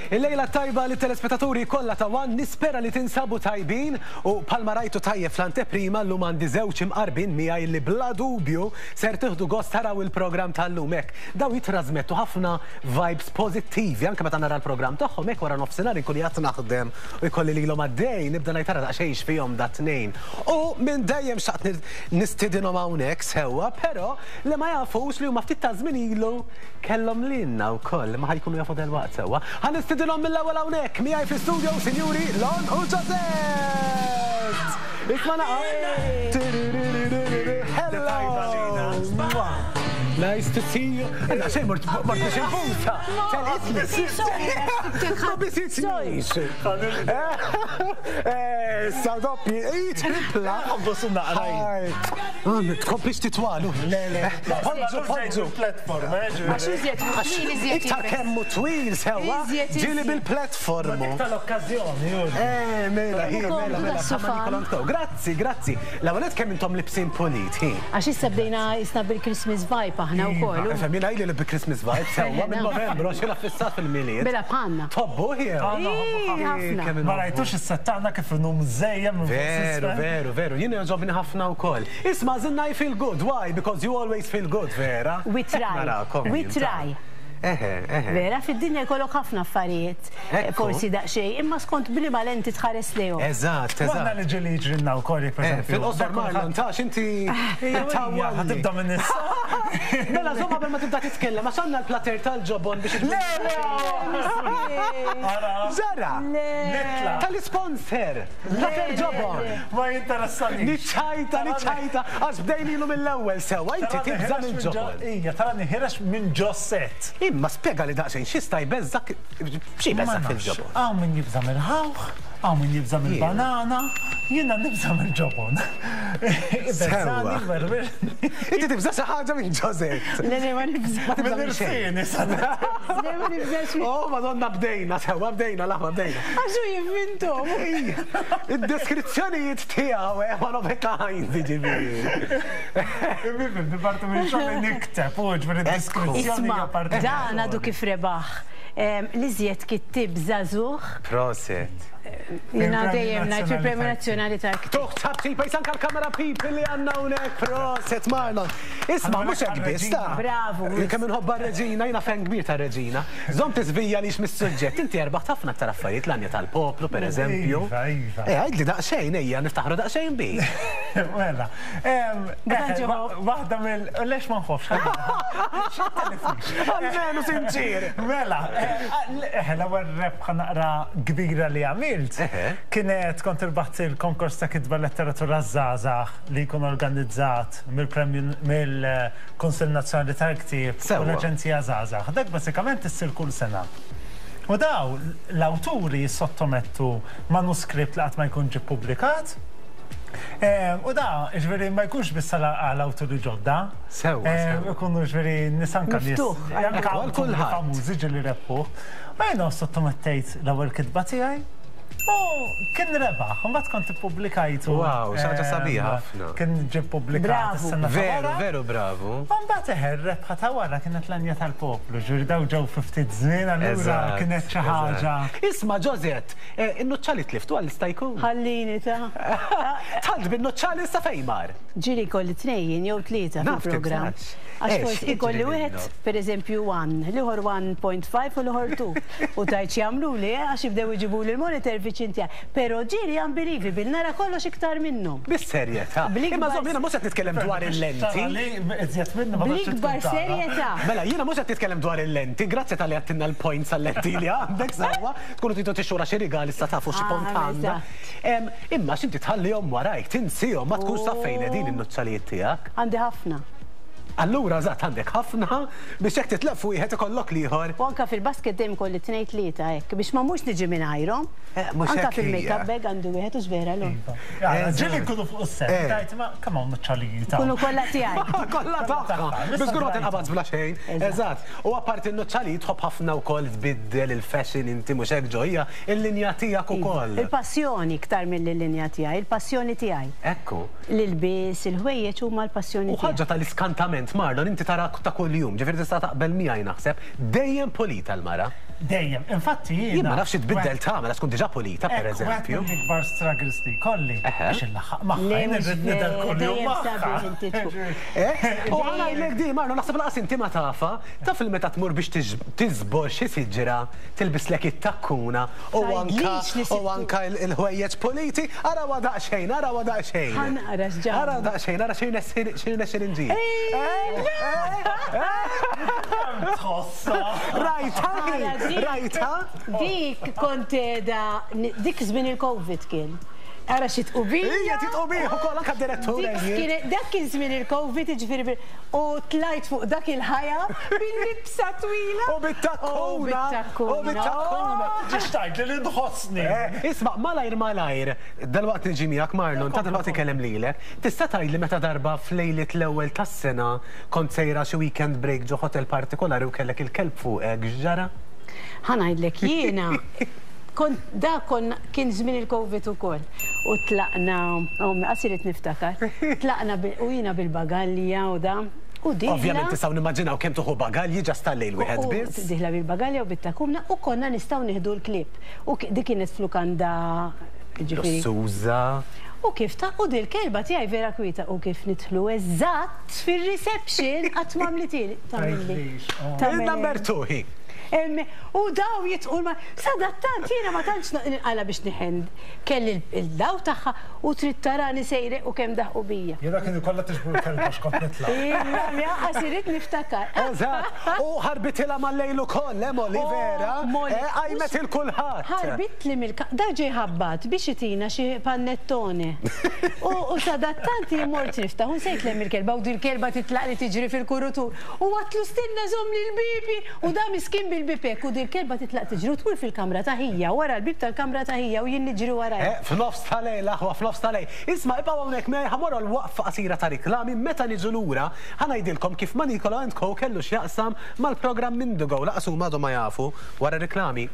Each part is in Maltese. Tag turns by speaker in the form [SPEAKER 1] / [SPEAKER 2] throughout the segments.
[SPEAKER 1] Il-lejla t-tajba lit-telespettaturi kollha ta' one, nispera li tinsabu tajbin u bħalma rajtu tajjeb fl-anteprima llum għandi żewġ imqarbin miegħi li bla dubju ser tieħdu gost taraw il-programm tal-lum hekk dawn jittrażmettu ħafna vibes pożittivi anke meta nara l-programm tagħhom hekk wara nofsinhar inkun qiegħed naħdem u jkolli lilhom għaddej nibda ngħid ara daqsxejn x'fihom dat-tnejn u minn dejjem xtaqt nistidinhom hawnhekk sewwa però li ma jafux li huma ftit ta' żmien ilu Kellhom lilna wkoll, imma ħa jkunu jafu delwaqt sewwa. Ħa nistidinhom mill-ewwel hawnhekk miegħi fl-istudio, sinjuri Lon u Josette! Isma' naqa'. Hello! Nice to see you. Għandna xejn mort mort biex infusa. Telqitni. Ma bisitnix. Eh, sa doppji, ej, tripla. Tkomplix titwalu. Le, le. Poġġu, poġġu.
[SPEAKER 2] Platform, eh, ġifieri.
[SPEAKER 3] Għax iżjed twil, iżjed.
[SPEAKER 1] Iktar kemm hu twil sewwa, ġieli bil-platform.
[SPEAKER 2] Dik tal-okkażjoni, Jurgen.
[SPEAKER 1] Eh, mela, hi, mela, mela, bħalma Nicola Ntkow. Grazzi, grazzi. L-ewwel nett kemm intom libsin pulit, hi.
[SPEAKER 3] Għax issa bdejna isna bil-Christmas vibe aħna wkoll.
[SPEAKER 1] Ifhem, jiena ili li bi-Christmas vibe sewwa minn Novembru għax jiena ffissat fil-Milied.
[SPEAKER 3] Mela bħalna.
[SPEAKER 1] Tħobbuh jew?
[SPEAKER 3] Ħafna.
[SPEAKER 2] Ma rajtux is-set tagħna kif inhu mżejjen minn fuq s'isfel?
[SPEAKER 1] Veru, veru, veru. Jien jogħġobni ħafna wkoll. Isma' żinna I feel good, why? Because you always feel good, vera?
[SPEAKER 3] We try, we try.
[SPEAKER 1] Eħe, eħe.
[SPEAKER 3] Vera, fid-dinja jkollok ħafna affarijiet, forsi daqsxejn, imma skont b'liema lenti tħares lejhom.
[SPEAKER 1] Eżatt, eżatt.
[SPEAKER 2] U aħna li ġieli jiġrilna wkoll jekk pereżempju.
[SPEAKER 1] Fil-qosor Marlon, taf inti
[SPEAKER 2] tawwalni. Ħa tibda minn issa.
[SPEAKER 1] Mela żomm qabel ma tibda titkellem għax għandna l-platter tal-ġobon biex.
[SPEAKER 2] Le, le!
[SPEAKER 1] Ġara!
[SPEAKER 2] Nitla'.
[SPEAKER 1] Tal-isponsor! Platter ġobon!
[SPEAKER 2] Ma jinteressani.
[SPEAKER 1] Niċċajta, niċċajta, għax bdejnilu mill-ewwel sewwa, inti tibża' mill-ġobon.
[SPEAKER 2] Ija, tarani ħirex minn ġo set.
[SPEAKER 1] Imma spjegali daqsxejn x'jista' jbeżżak, xi jbeżżak fil-ġobon?
[SPEAKER 2] Hawn min jibża' mill-ħawħ, hawn min jibża' mill-banana, jiena nibża' mill-ġobon.
[SPEAKER 1] Sewwa. Inti tibża' xi ħaġa minn ġo set.
[SPEAKER 3] Le, le, ma nibżax.
[SPEAKER 1] Ma tibża' minn xejn.
[SPEAKER 3] Le, ma nibżax.
[SPEAKER 1] Oh, Madonna bdejna, sewwa bdejna, l-aħwa bdejna.
[SPEAKER 3] Għax hu jivvinthom.
[SPEAKER 1] Id-deskrizzjonijiet tiegħu eh, one of a kind, jiġifieri.
[SPEAKER 2] Imma parti minn xogħol li nikteb, u ġifieri d-deskrizzjoni hija parti.
[SPEAKER 3] Dan għadu kif rebaħ l-iżjed kittieb żagħżugħ.
[SPEAKER 1] Proset.
[SPEAKER 3] Jiena dejjem ngħid fil-Premju Nazzjonali tal-Ktieb.
[SPEAKER 1] Tuħ ċapċipa, jis anke l-kamera people li għandna hawnhekk, proset Marlon. Isma' mhux hekk biss ta.
[SPEAKER 3] Bravu.
[SPEAKER 1] Kemm inħobbha r-Reġina, jiena fan kbir tar-Reġina. Żomm tiżvija lix mis-suġġett, inti erbaħt ħafna aktar affarijiet, l-għanja tal-poplu pereżempju.
[SPEAKER 2] Iva, iva.
[SPEAKER 1] Eh, għidli daqsxejn, ejja, niftaħru daqsxejn bik.
[SPEAKER 2] Mela, waħda mill. Lex ma nħobbx.
[SPEAKER 1] Almenu sinċier.
[SPEAKER 2] Mela, eh, l-ewwel rebħa naqra kbira li għamilt kienet kont irbaħt il-konkors ta' kitba letteratura żgħażagħ li jkun organizzat mill-Premju mill-Kunsill Nazzjonali tal-Ktieb u l-Aġenzija Żgħażagħ. Dak bażikament issir kull sena. U daw l-awturi jissottomettu manuskritt li qatt ma jkun ġie ppubblikat. U da, ġifieri ma jkunx biss għal awturi ġodda.
[SPEAKER 1] Sewwa, sewwa.
[SPEAKER 2] Ikunu ġifieri nies anke nies.
[SPEAKER 3] Miftuħ.
[SPEAKER 2] Anke awturi famużi ġieli rebħuh. U jiena ssottomettejt l-ewwel kitba tiegħi. U kien rebaħ, u mbagħad kont ippubblikajtu.
[SPEAKER 1] Wow, xi ħaġa sabiħa ħafna.
[SPEAKER 2] Kien ġie ppubblikat is-sena ta'
[SPEAKER 1] Veru, veru bravu.
[SPEAKER 2] U mbagħad eħe, r-rebħa ta' wara kienet l-għanja tal-poplu, ġifieri dawn ġew fi ftit żmien allura kienet xi ħaġa.
[SPEAKER 1] Isma' Josette, in-nuċċali tliftu għal jista' jkun?
[SPEAKER 3] Ħallini ta'.
[SPEAKER 1] Tħalt bin-nuċċali issa fejn mar?
[SPEAKER 3] Ġieli jkolli tnejn jew tlieta fil-programm. Għax forsi jkolli wieħed, pereżempju one, l-ieħor 1.5 u l-ieħor two. U tgħid x'jagħmluli, eh, għax jibdew iġibuli l-monitor viċin tiegħi. Però ġieli unbelievable, nara kollox iktar minnhom.
[SPEAKER 1] Bis-serjetà. Imma żomm, jiena mhux qed nitkellem dwar il-lenti.
[SPEAKER 3] Bl-ikbar serjetà.
[SPEAKER 1] Mela, jiena mhux qed nitkellem dwar il-lenti, grazzi talli għedtilna l-points għal-lenti li għandek sewwa, tkunu tridu tixtrulha xi rigal issa tafu xi pont għandha. Imma x'inti tħallihom warajk, tinsihom, ma tkunx taf fejn qegħdin in-nuċċalijiet tiegħek.
[SPEAKER 3] Għandi ħafna.
[SPEAKER 1] Allura eżatt għandek ħafna biex jekk titlef wieħed ikollok l-ieħor.
[SPEAKER 3] U anke fil-basket dejjem ikolli tnejn tlieta hekk biex ma mmurx niġi mingħajrhom.
[SPEAKER 1] Mhux
[SPEAKER 3] Anke
[SPEAKER 1] hekk hija.
[SPEAKER 3] fil-makeup bag għandi wieħed hux vera Lon?
[SPEAKER 2] Iva. Ġieli nkunu fuq is-set, tgħid ma kemm hawn nuċċalijiet hawn.
[SPEAKER 3] Ikunu kollha tiegħi.
[SPEAKER 1] Kollha tagħha. Biex żgur ma tinqabadx bla xejn. Eżatt. U apparti n-nuċċalijiet tħobb ħafna wkoll tbiddel il-fashion inti mhux hekk Ġo hija l-linja tiegħek ukoll.
[SPEAKER 3] Il-passjoni iktar milli l-linja tiegħi, il-passjoni tiegħi.
[SPEAKER 1] Ekku.
[SPEAKER 3] L-ilbies, il-ħwejjeġ huma l-passjoni
[SPEAKER 1] U
[SPEAKER 3] tiegħi.
[SPEAKER 1] ħaġa tal-iskantament, Marlon, inti tara ta' kuljum, ġifieri tista' taqbel miegħi naħseb, dejjem pulita l-mara.
[SPEAKER 2] Dejjem. Infatti jiena.
[SPEAKER 1] Jien ma nafx xi tbiddel tagħmel għax tkun diġà pulita pereżempju.
[SPEAKER 2] Wieħed mill-ikbar struggles li jkolli biex inlaħħaq magħha. Jien irrid nidher kuljum magħha.
[SPEAKER 1] U ħa ngħidlek di, Marlon, naħseb lanqas inti ma tafha, taf li meta tmur biex tiżbor xi siġra, tilbislek it-takkuna u anka u anka l-ħwejjeġ puliti, arawha daqsxejn, arawha daqsxejn.
[SPEAKER 3] Ħa naqra x'ġara.
[SPEAKER 1] Arawha daqsxejn, ara x'irnexxieli nġib.
[SPEAKER 2] Tħossha.
[SPEAKER 1] Rajtha hi, rajtha.
[SPEAKER 3] Dik kont qiegħda, dik żmien il-Covid kien. Ara xi tqubija.
[SPEAKER 1] Hija titqubih ukoll anke d-direttur.
[SPEAKER 3] Dak kien żmien il-Covid, jiġifieri u tlajt fuq dak il-ħajja bil-libsa twila.
[SPEAKER 1] U bit-takkuna. U bit-takkuna.
[SPEAKER 2] Tridx tgħidli li nħossni.
[SPEAKER 1] Isma' malajr malajr, dalwaqt niġi miegħek Marlon, ta' dalwaqt inkellem lilek. Tista' tgħidli meta darba f'lejliet l-ewwel tas-sena kont sejra xi weekend break ġo hotel partikolari u kellek il-kelb fuqek, x'ġara?
[SPEAKER 3] Ħa ngħidlek jiena kont da konna kien żmien il-Covid ukoll u tlaqna ommi qas irid niftakar, tlaqna u jiena bil-bagalja u da u dieħla.
[SPEAKER 1] Ovvjament nistgħu nimmaġinaw kemm tieħu bagalji ġast tal-lejl wieħed biss.
[SPEAKER 3] Dieħla bil-bagalja u bit-takumna u konna nistgħu nieħdu l-klieb. U dik kienet f'lukanda jiġifieri.
[SPEAKER 1] Lussuża.
[SPEAKER 3] U kif ta' u dil-kelba tiegħi vera kwieta u kif nidħlu eżatt fir-reception qatt m'għamlithieli. Tagħmilli.
[SPEAKER 1] Il-number two hi.
[SPEAKER 3] U daw jitqu ma. Sadattant jiena ma tantx ninqala biex niħen. Kelli l-daw tagħha u trid tarani sejre u kemm daħqu bija.
[SPEAKER 2] Jiena kienu kollha tiġbru l-kelba għax kont nitlaq.
[SPEAKER 3] Lanqas irrid niftakar.
[SPEAKER 1] Eżatt. U ħarbitilha mal-lejl ukoll, eh Molly, vera?
[SPEAKER 3] Molly.
[SPEAKER 1] Qajmet il kulħadd.
[SPEAKER 3] Ħarbitli mill Da ġie ħabbat biex itina xi panettone. U sadattant jien mort niftaħ u nsejt 'l hemm il-kelba u dil-kelba titlaqli tiġri fil-kurutur. U għadtlu stenna żommli l-bieb u da miskin bil-bieb hekk u dil-kelba titlaq tiġri u tmur fil-kamra ta' ħija, wara l-bieb tal-kamra ta' ħija u jien niġri warajha.
[SPEAKER 1] Eh, f'nofs ta' lejl aħwa, f'nofs ta' lejl. Isma' ibqgħu hawnhekk miegħi ħa mmorru għal waqfa qasira ta' riklami, meta niġu lura ħa ngħidilkom kif Manicolo and Co kellu x'jaqsam mal-programm Indigo, lanqas huma għadhom ma jafu, wara r-riklami.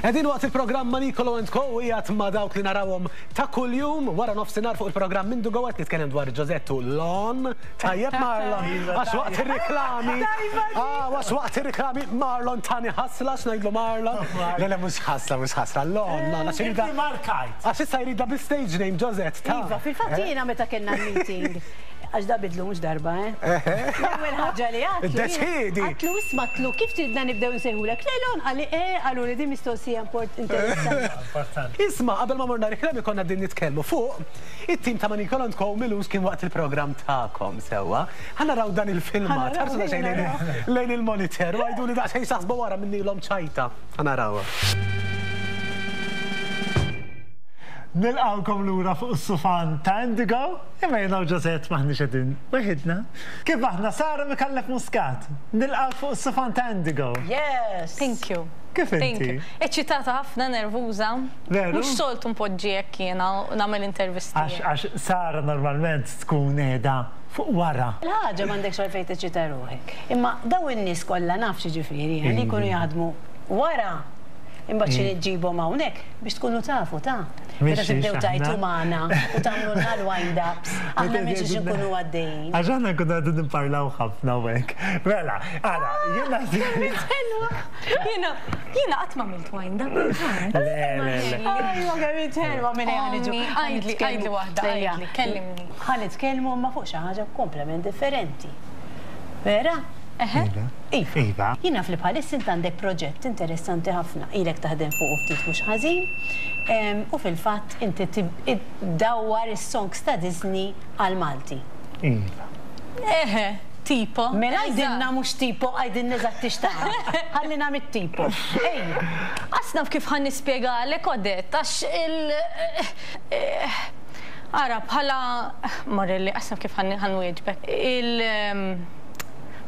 [SPEAKER 1] Qegħdin waqt il-programm ma' Nicolo and Co qiegħed ma' dawk li narawhom ta' kuljum wara nofsinhar fuq il-programm Mindu Go qed nitkellem dwar Giuseppe Lon. Tajjeb Marlon, għax waqt ir-riklami. Ah, għax waqt ir-riklami Marlon tani ħasla x'ngħidlu Marlon. Le le mhux ħasla, mhux ħasla, Lon, Lon għax iridha. Għax issa jridha bi-stage name Giuseppe ta'.
[SPEAKER 3] Iva, fil-fatt jiena meta kellna l-meeting għax da bidlu mhux darba, eh? L-ewwel ħaġa li għadtlu.
[SPEAKER 1] Iddeċiedi!
[SPEAKER 3] Għadtlu isma' għadtlu kif tridna nibdew insejħulek? Le Lon qalli eh qaluli din mistoqsija interessanti.
[SPEAKER 2] Importanti.
[SPEAKER 1] Isma' qabel ma morna riklami konna qegħdin nitkellmu fuq it-tim ta' Manicolo and Co m'ilux kien waqt il-programm tagħkom sewwa. Ħa naraw dan il-filmat, ħarsu daqsxejn lejn il-monitor u għiduli daqsxejn x'taħsbu wara minnilhom ċajta. Ħa narawha.
[SPEAKER 2] Nilqgħukom lura fuq is-sufan ta' Indigo. Imma jiena u Josette m'aħniex qegħdin weħidna. Kif aħna Sara Micallef Muscat, nilqgħuk fuq is-sufan ta' Indigo.
[SPEAKER 3] Yes!
[SPEAKER 4] Thank you.
[SPEAKER 2] Kif
[SPEAKER 4] Thank
[SPEAKER 2] inti?
[SPEAKER 4] you. Eċċitata ħafna, nervuża.
[SPEAKER 2] Veru?
[SPEAKER 4] Mhux soltu npoġġi hekk jiena u nagħmel intervisti.
[SPEAKER 2] Għax għax Sara normalment tkun qiegħda fuq wara.
[SPEAKER 3] Il-ħaġa m'għandekx għalfejn teċċita ruħek. Imma dawn in-nies kollha naf x'jiġifieri, li jkunu jaħdmu wara imbagħad xi ġġibhom hawnhekk biex tkunu tafu ta'. Meta tibdew tgħajtu magħna u tagħmlulna l-wind ups, aħna minn xiex inkunu għaddejjin.
[SPEAKER 2] Għax aħna nkunu qegħdin nipparlaw ħafna u hekk. Mela, ara, jiena.
[SPEAKER 3] Ħelwa.
[SPEAKER 4] Jiena, jiena qatt ma għamilt wind up.
[SPEAKER 2] Le, le, le.
[SPEAKER 3] Ajwa kemm int ħelwa minn ejja niġu.
[SPEAKER 4] Għidli, għidli waħda, għidli, kellimni.
[SPEAKER 3] Ħa nitkellmu imma fuq xi ħaġa komplement differenti. Vera?
[SPEAKER 4] Eħe.
[SPEAKER 3] Iva.
[SPEAKER 2] Iva.
[SPEAKER 3] Jien naf li bħalissa int għandek proġett interessanti ħafna, ilek taħdem fuqu ftit mhux ħażin, u fil-fatt inti ddawwar is-songs ta' Disney għall-Malti.
[SPEAKER 2] Iva.
[SPEAKER 4] Eħe, tipo.
[SPEAKER 3] Mela għidilna mhux tipo, għidilna eżatt x'tagħmel. Ħallina mit-tipo. Ejja.
[SPEAKER 4] Qas naf kif ħa nispjegalek Odette, għax il. Ara, bħala Morelli, qas naf kif ħa nwieġbek. Il.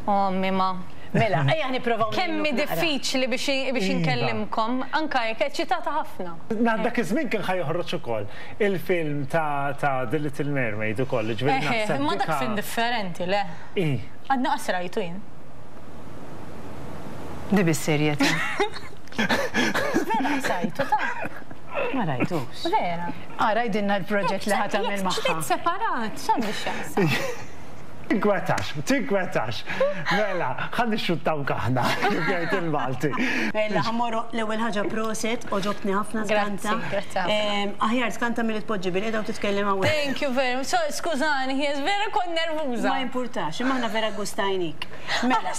[SPEAKER 4] Ommi ma.
[SPEAKER 3] Mela, ejja nipprovaw.
[SPEAKER 4] Kemm hi diffiċli biex inkellimkom, anke jekk eċċitata ħafna.
[SPEAKER 2] Na dak iż-żmien kien ħa joħroġ ukoll il-film ta' The Little Mermaid ukoll, jiġifieri naħseb.
[SPEAKER 4] Eħe, imma dak film differenti, le?
[SPEAKER 2] Ih.
[SPEAKER 4] Għadni qas rajtu jien.
[SPEAKER 3] Di bis-serjetà.
[SPEAKER 4] Vera qas rajtu, ta.
[SPEAKER 3] Ma rajtux.
[SPEAKER 4] Vera.
[SPEAKER 3] Ara għidilna l-proġett li ħa tagħmel magħha.
[SPEAKER 4] Jekk separat, x'għandu x'jaqsam?
[SPEAKER 2] Tinkwetax, tinkwetax. Mela, ħa nixxuttawk aħna, kif jgħid il-Malti.
[SPEAKER 3] Mela, ħa mmorru l-ewwel ħaġa proset, għoġobtni ħafna tkanta.
[SPEAKER 4] Grazzi, grazzi ħafna.
[SPEAKER 3] Aħjar tkanta milli tpoġġi bilqiegħda u titkellem hawnhekk.
[SPEAKER 4] Thank you very much. Skużani, ħies vera kont nervuża.
[SPEAKER 3] Ma jimpurtax, imma aħna vera ggustajnik. Mela.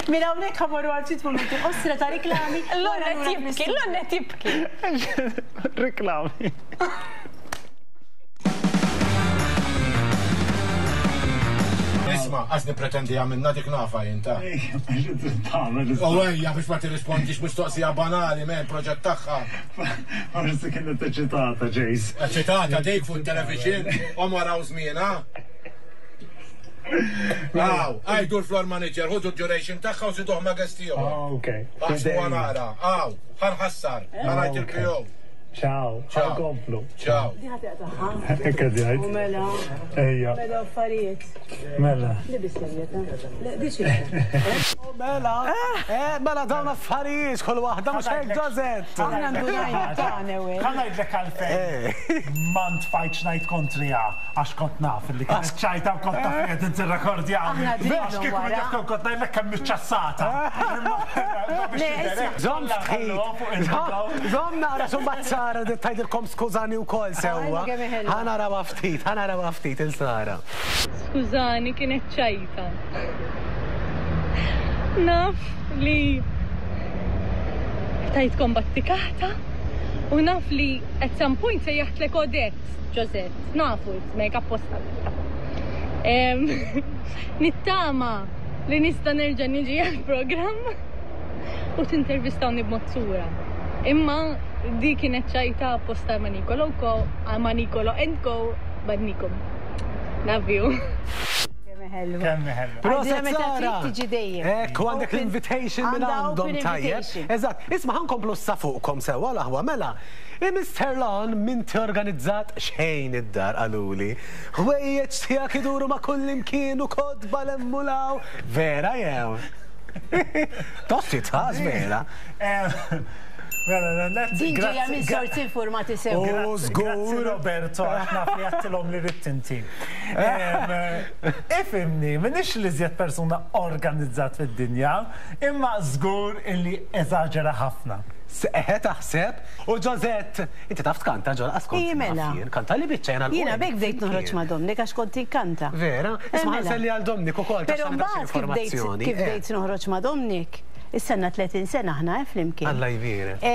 [SPEAKER 3] Minn hawnhekk ħa mmorru għal ftit mumenti qosra ta' riklami.
[SPEAKER 4] L-onet jibki, l-onet jibki.
[SPEAKER 2] Riklami.
[SPEAKER 5] Isma, għax nipretendi għamilna dik nafa jien ta. U ejja biex ma tirrispondix mistoqsija banali men proġett tagħha.
[SPEAKER 2] Forsi kienet eċitata, Jace.
[SPEAKER 5] Eċitata dik fuq television u maraw żmienha. Aw, għajdu l-floor manager, ħudu d-duration tagħha u żiduh ma' guest ieħor.
[SPEAKER 2] Ah, ok.
[SPEAKER 5] Aħsbu naqra. Aw, ħanħassar, ħanajt il-PO.
[SPEAKER 2] Ciao,
[SPEAKER 5] Ciao.
[SPEAKER 2] ħankomplu.
[SPEAKER 5] Ciao.
[SPEAKER 3] Di ħa taqtagħha.
[SPEAKER 2] Hekk qed jgħid.
[SPEAKER 3] U mela.
[SPEAKER 2] Ejja.
[SPEAKER 3] Mela affarijiet.
[SPEAKER 2] Mela.
[SPEAKER 3] Li biżżejjed, eh? Le, di xi.
[SPEAKER 1] U mela, eh, mela dawn affarijiet kull waħda mhux hekk Josette.
[SPEAKER 3] Aħna ndunajna tagħna u
[SPEAKER 2] Ħa ngħidlek għalfejn ma ntfajtx ngħid kontriha għax kont naf li kienet ċajta u kont naf li qegħdin tirrekordjani.
[SPEAKER 3] Aħna
[SPEAKER 2] Għax kieku
[SPEAKER 3] wara.
[SPEAKER 2] jekk kont ngħidlek kemm iċċassata.
[SPEAKER 3] Le, isma'.
[SPEAKER 1] Żomm ftit. Żomm naqra x'u mbagħad Sara tgħidilkom skużani wkoll sewwa.
[SPEAKER 3] Għajna kemm hi ħelwa.
[SPEAKER 1] Ħa narawha ftit, ħa narawha ftit il Sara.
[SPEAKER 4] Skużani, kienet ċajta. Naf li tajtkom battikata u naf li at some point sejjaħtlek Odette, Josette, nafu ismek apposta. Em, Nittama li nista nerġa' niġi għal-programm u tintervistawni b'mod sura. Imma di kienet ċajta apposta ma' Nicolo Co, ma' Nicolo and Co, badnikom. Love you.
[SPEAKER 3] Kemm hi ħelwa.
[SPEAKER 2] Kemm hi ħelwa.
[SPEAKER 1] Proset
[SPEAKER 3] Għidilha meta
[SPEAKER 1] Sara.
[SPEAKER 3] trid tiġi dejjem.
[SPEAKER 1] Ekku għandek
[SPEAKER 3] Open-
[SPEAKER 1] l-invitation minn
[SPEAKER 3] għandha
[SPEAKER 1] għandhom
[SPEAKER 3] open
[SPEAKER 1] tajjeb.
[SPEAKER 3] invitation.
[SPEAKER 1] Eżatt, isma' ħa nkomplu sa fuqkom sewwa l-aħwa mela. Mr. Lon m'inti organizzat xejn id-dar qaluli. Ħwejjeġ tiegħek iduru ma' kull imkien u kotba l-emmulaw. Vera jew? Tossi tħas vera.
[SPEAKER 2] Mela, net.
[SPEAKER 3] Din ġejja
[SPEAKER 2] grazzi-
[SPEAKER 3] minn sorsi informati sew.
[SPEAKER 1] U
[SPEAKER 2] Grazzi
[SPEAKER 1] żgur.
[SPEAKER 2] Roberto, għax naf li għattilhom li ridt inti. Ifhimni, m'iniex l-iżjed persuna organizzat fid-dinja, imma żgur illi eżaġera ħafna.
[SPEAKER 1] Eħe taħseb. U Josette, inti taf tkanta ġol qaskont.
[SPEAKER 3] Iji, mela.
[SPEAKER 1] Kanta li biċċa jena
[SPEAKER 3] Jiena bek bdejt noħroġ ma' Dominic għax kont inkanta.
[SPEAKER 1] Vera?
[SPEAKER 3] Eh,
[SPEAKER 1] Isma'
[SPEAKER 3] mela.
[SPEAKER 1] nselli għal Dominic ukoll ta'
[SPEAKER 3] Però mbagħad kif bdejt
[SPEAKER 1] informazzjoni.
[SPEAKER 3] kif bdejt noħroġ ma' Dominic, issa għandna 30 sena aħna eh, flimkien.
[SPEAKER 1] Alla jbierek.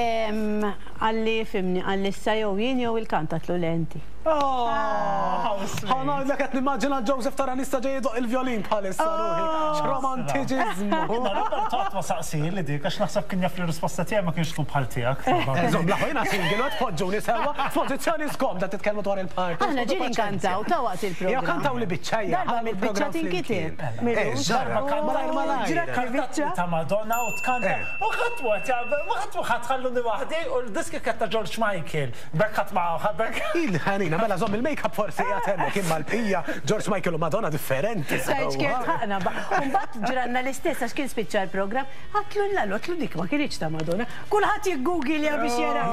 [SPEAKER 3] Qalli fimni, qalli issa jew jien jew il-kant għatlu le inti.
[SPEAKER 1] Ħa ngħidlek qed nimmaġina Joseph Taranista ġej idoq il-violin bħalissa ruħi. X'romantiċiżmu.
[SPEAKER 2] Imma Roberto qatt ma saqsieli dik għax naħseb kien jaf li r-risposta tiegħi ma kienx tkun bħal tiegħek.
[SPEAKER 1] Żomm l-aħwa jiena single u tpoġġuni sewwa f'pożizzjoni skomda titkellmu dwar il-party.
[SPEAKER 3] Aħna ġieli nkantaw ta' waqt il-programm.
[SPEAKER 1] Jew kantaw li biċċa hija.
[SPEAKER 3] Darba mill-biċċa tinkiteb.
[SPEAKER 1] Eh, ġara, malajr malajr.
[SPEAKER 2] Ġrat ta' Madonna u tkanta. U ħadd ma ħadd ma ħadd ħalluni waħdi u l-diski kienet ta' George Michael. Bekk ħadd ma bekk.
[SPEAKER 1] Il-ħanina, mela żomm il-make-up forsi qiegħed hemmhekk imma l-bqija George Michael u Madonna differenti.
[SPEAKER 3] Sajt kien ħaqna. Mbagħad ġranna l-istess għax kien spiċċa l-programm, għatlu l għatlu dik ma kienx ta' Madonna. Kulħadd jiggooglja biex jara.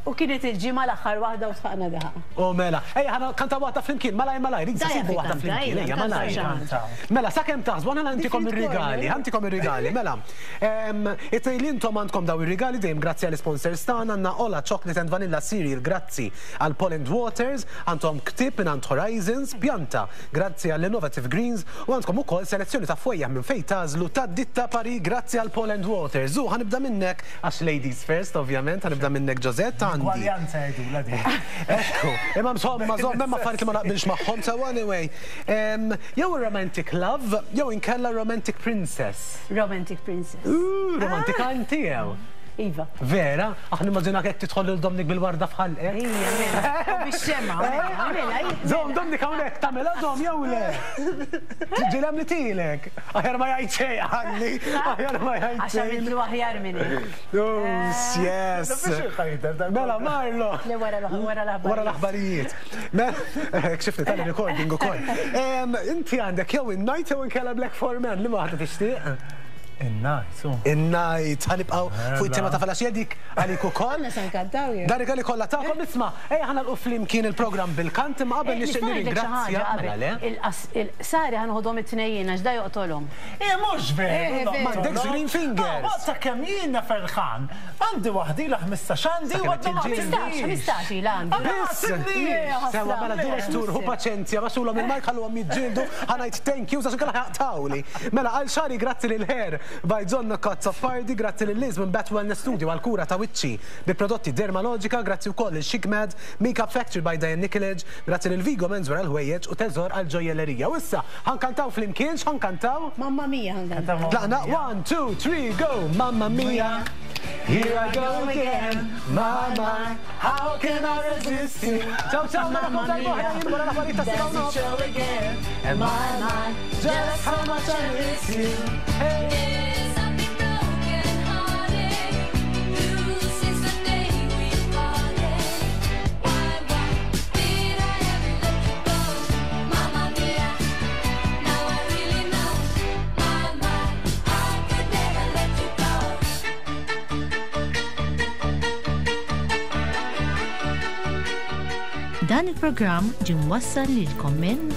[SPEAKER 3] U kienet il-ġimgħa l-aħħar waħda u sħaqna daħqa.
[SPEAKER 1] U mela, ejja ħana kanta waħda flimkien, malaj malaj, rid
[SPEAKER 3] Dajja
[SPEAKER 1] sibu
[SPEAKER 3] fi
[SPEAKER 1] waħda
[SPEAKER 3] kanta,
[SPEAKER 1] flimkien,
[SPEAKER 3] ejja,
[SPEAKER 1] ejja
[SPEAKER 3] kanta
[SPEAKER 1] malaj.
[SPEAKER 3] xi ħaġa.
[SPEAKER 1] Mela, sakemm taħsbu, għana għantikom
[SPEAKER 3] Different
[SPEAKER 1] ir-rigali,
[SPEAKER 3] corner.
[SPEAKER 1] għantikom ir-rigali, mela. It-tejn li intom għandkom daw ir-rigali dejjem grazzi għall sponsors tagħna għandna Ola Chocolate and Vanilla Cereal grazzi għal Poland Waters, għandhom ktieb minn għand Horizons, pjanta grazzi għall Innovative Greens u għandkom ukoll selezzjoni ta' fwejjaħ minn fejn tagħżlu ta' Ditta Paris grazzi għal Poland Waters. U ħanibda minnek għax ladies first ovvjament, ħanibda minnek Josette għandi.
[SPEAKER 2] Gwaljanza jgħidulha dik.
[SPEAKER 1] Ekku, imma insomma, żomm, hemm affarijiet li ma naqbilx magħhom sewa anyway. Jew romantic love, jew inkella romantic princess.
[SPEAKER 3] Romantic Princess.
[SPEAKER 1] Romantika inti jew.
[SPEAKER 3] Iva.
[SPEAKER 1] Vera, aħna immaġina hekk tidħol lil Dominic bil-warda f'ħalqek.
[SPEAKER 3] Ija, mela. U bix-xemgħa, mela, mela.
[SPEAKER 1] Żomm, Dominic hawnhekk tagħmilha żomm jew le? Tiġi li tilek. Aħjar ma jgħid xejn ħalli, aħjar ma jgħid
[SPEAKER 3] Għax
[SPEAKER 1] xejn.
[SPEAKER 3] għamiltlu aħjar minn hekk.
[SPEAKER 1] Oh, yes. Mela, Marlo.
[SPEAKER 3] Le wara l- wara l-aħbarijiet.
[SPEAKER 1] Wara l-aħbarijiet. Mela, kxifni tal-recording ukoll. Inti għandek jew in-night jew inkella Black for Men, li waħda tixtieq?
[SPEAKER 2] In-night.
[SPEAKER 1] In-night, ħa nibqgħu fuq it-tema ta' filgħaxija dik għalik ukoll.
[SPEAKER 3] Aħna se nkantaw jew?
[SPEAKER 1] Dan rigali kollha tagħkom isma' ejja ħa nagħlqu flimkien il-programm bil-kant imma qabel nixtieq nirringrazzja. Mela le.
[SPEAKER 3] Il-qsari ħa noħodhom it-tnejn għax da joqtolhom.
[SPEAKER 2] Eh mhux veru.
[SPEAKER 1] M'għandekx green fingers.
[SPEAKER 2] Ta' kemm jiena ferħan. Għandi waħda ilha 15 għandi u għadha ma
[SPEAKER 3] qtilniex. 15 ilha għandi.
[SPEAKER 1] Biss. Sewwa mela direttur ħu paċenzja baxxulhom il-mic ħalluhom jiġġieldu ħa ngħid thank yous għax inkella ħa jaqtgħuli. Mela għal xagħri grazzi lil Hair by John Azzopardi, grazzi lil Liz minn Bat Wellness Studio għall kura ta' wiċċi bi prodotti Dermalogica, grazzi wkoll lil Chic Mad, Makeup Factory by Diane Nicolage, grazzi lil Vigo Menswear għall-ħwejjeġ u Teżor għall-ġojjellerija. U issa ħa nkantaw flimkien, x'ħa nkantaw?
[SPEAKER 3] Mamma Mia ħa nkantaw.
[SPEAKER 1] Tlaqna, one, two, three, go! Mamma Mia, here I go again, my my, how can I resist you? Ciao ciao, narakom darb'oħra jien wara l-aħbarijiet tas-7 u nofs. My my, just how much I miss you. Hey.
[SPEAKER 6] Dan il-programm ġie mwassal lilkom minn.